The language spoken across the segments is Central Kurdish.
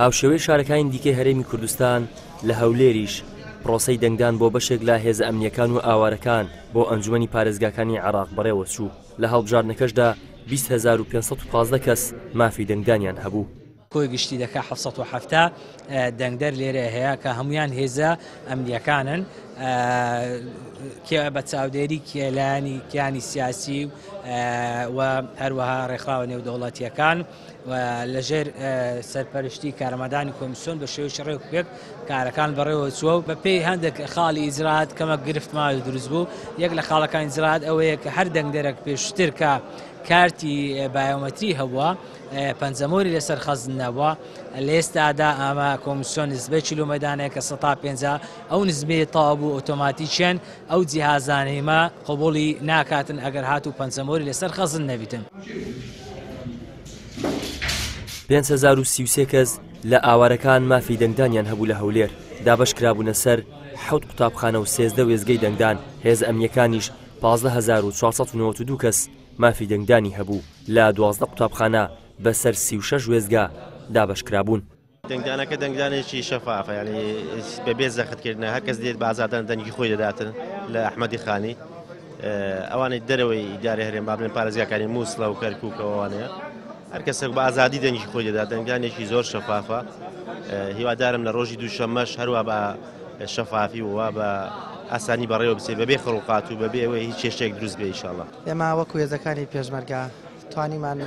هاوشێوەی شارەکانی دیکەی هەرێمی کوردستان، لە هەولێریش پرۆسەی دەنگدان بۆ بەشێک لە هێزە ئەمنییەکان و ئاوارەکان بۆ ئەنجومەنی پارێزگاکانی عێراق بەڕێوەچوو، لە هەڵبژاردنەکەشدا 20,515 کەس مافی دەنگدانیان هەبوو. کۆی گشتی دەکا 770 دەنگدەر لێرە هەیە کە هەمویان هێزە ئەمنیەکانن کێ بە چاودێری کێلانی کیانی سیاسی و هەروەها ڕێکخراوە نێودەوڵەتیەکان و لەژێر سەرپەرشتی کارمەندانی کۆمیسیۆن بە شێوەیەکی ڕێک پێک کارەکان بەڕێوە چووە و بەپێی هەندێک خاڵی ئیجرات کەمە گرفتمان دروست بوو. یەک لە خاڵەکانی ئیجرات ئەوەیە کە هەر دەنگدەرێک پێشتر کە کارتی بایۆمەتری هەبووە پەنجەمۆری لەسەر خەزن نەبووە، لە ئێستادا ئەمە کۆمیسیۆن نزبەی چلو مەدانەیە کە سەتا پێنجا ئەو نزمەیە تەواو بوو ئۆتۆماتیکیەن ئەو جیهازانەی مە قبوڵی ناکاتن ئەگەر هاتوو پەنجەمۆری لەسەر خەزن نەبیتن. 5033 کەس لە ئاوارەکان مافی دەنگدانیان هەبوو لە هەولێر، دابەشکرابوونە سەر حەوت قوتابخانە و 13 وێستگەی دەنگدان، هێزە ئەمنییەکانیش 15492 کەس مافی دەنگدانی هەبوو لە 12 قوتابخانە بەسەر 36 وێستگە دابەشکرابوون. دەنگدانەکە دەنگدانێکی شەفافە، یانی بەبێ زەختکردنە، هەر کەس دێت بە ئازادانە دەنگی خۆی دەداتن لە ئەحمەدی خانی. ئەوانەی دەرەوەی ئیدارەی هەرێم با بڵێن پارێزگاکانی مووسڵە و کەرکووکەوە ئەوانەیە، هەر کەسێک بە ئازادی دەنگی خۆی دەدات، دەنگدانێکی زۆر شەفافە. هیوادارم لە ڕۆژی دووشەممەش هەروە بە شەفافی و وا بە ئاسانی بەڕێوە بچێت بەبێ خڕوقات و بەبێ ئەوەی هیچ کێشەیەک دروست بێ ئیشاڵڵا. ئێمە وەکو هێزەکانی پێشمەرگە توانیمان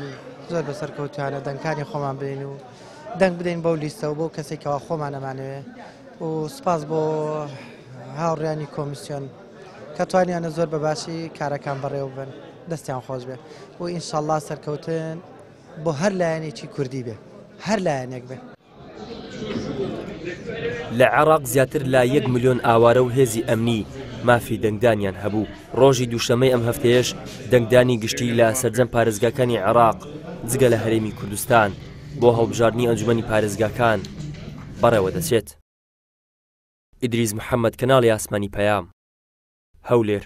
زۆر بە سەرکەوتوانە دەنگکانی خۆمان بێین و دەنگ بدەین بەو لیستە و بەو کەسێک کەوا خۆمان ئەمانەوێ و سوپاس بۆ هاوڕیانی کۆمیسیۆن کە توانیانە زۆر بە باشی کارەکان بەڕێوە ببەن، دەستیان خۆش بێ و ئینشەڵڵا سەرکەوتن بۆ هەر لایەنێکی کوردی بێ، هەر لایەنێک بێ. لە عێراق زیاتر لە یەک ملیۆن ئاوارە و هێزی ئەمنی مافی دەنگدانیان هەبوو. ڕۆژی دووشەممەی ئەم هەفتەیەش دەنگدانی گشتی لە سەرجەم پارێزگاکانی عێراق جگە لە هەرێمی کوردستان بۆ هەڵبژاردنی ئەنجومەنی پارێزگاکان بەڕێوەدەچێت. ئیدریس محەمەد، کەناڵی ئاسمانی پەیام، هەولێر.